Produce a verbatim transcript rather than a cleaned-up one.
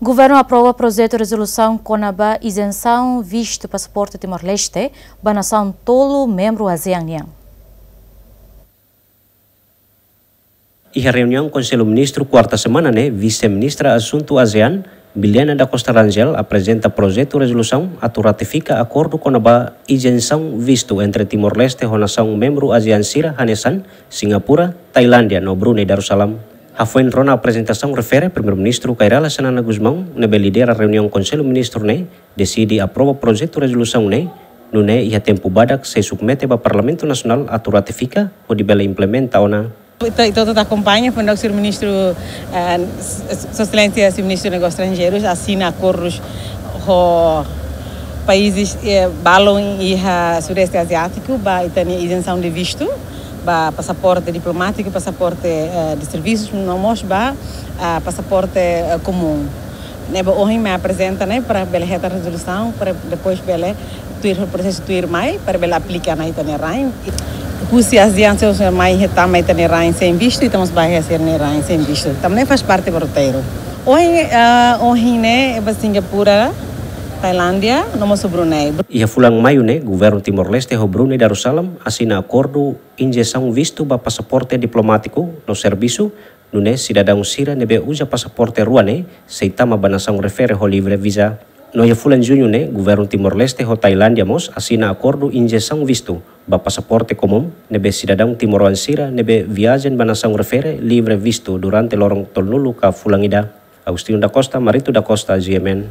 Governu aprova projetu rezolusaun kona-ba izensaun vistu pasaporte Timor-Leste ba nasaun tolu membru ASEAN nian. Iha reuniaun Konsellu Ministru kuarta semana ne'e, Vise-Ministra Asuntu ASEAN, Bilena da Costa Rangel, aprezenta projetu rezolusaun atu ratifika akordu kona-ba izensaun vistu entre Timor-Leste ho nasaun membru ASEAN sira hanesan Singapura, Tailándia no Brunei Darussalam. Hafoin rona aprezentasaun refere, Primeiru-Ministru Kay Rala Xanana Gusmão, ne'ebé lidera reuniaun Konsellu Ministru ne'e, deside aprova projetu rezolusaun ne'e, nune'e iha tempu badak sei submete ba Parlamentu Nasionál atu ratifika, hodi bele implementa ona. Ita, ita hotu akompaña, foin daudauk Señór Ministru, eh, Sua Exelénsia Señór Ministru Negósius Estranjeirus asina akordus ho países, eh, balun iha Sudeste Aziátiku, ba ita-nia izensaun de vistu, ba pasaporte diplomátiku, pasaporte, eh, de servisus, no mós ba, ah, pasaporte, eh, komún. Ne'ebé ohin mai aprezenta ne'e para bele hetan rezolusaun, para depois bele tuir prosesu tuirmai, para bele aplika ona iha ita-nia rain. Husi ASEAN sira mai hetan mai iha ita-nia rain sein vistu, ita mós ba iha sira-nia rain sein vistu. Tanba ne'e faz parte ba roteiru. Ohin, ah, ohin ne'e ba Singapura, Tailándia, no mós Brunei. Iha fulan Maiu ne'e, Governu Timor-Leste ho Brunei Darussalam asina akordu izensaun vistu ba pasaporte diplomátiku no servisu, nune'e sidadaun sira ne'ebé uza pasaporte rua ne'e sei tama ba nasaun refere ho livre viza. No iha fulan Juñu ne'e, Governu Timor-Leste ho Tailándia mós asina akordu izensaun vistu ba pasaporte komún, ne'ebé sidadaun timoroan sira ne'ebé viajen ba nasaun refere livre vistu durante loron tolunulu ka fulan ida. Agostinho da Costa, Marito da Costa, GMN.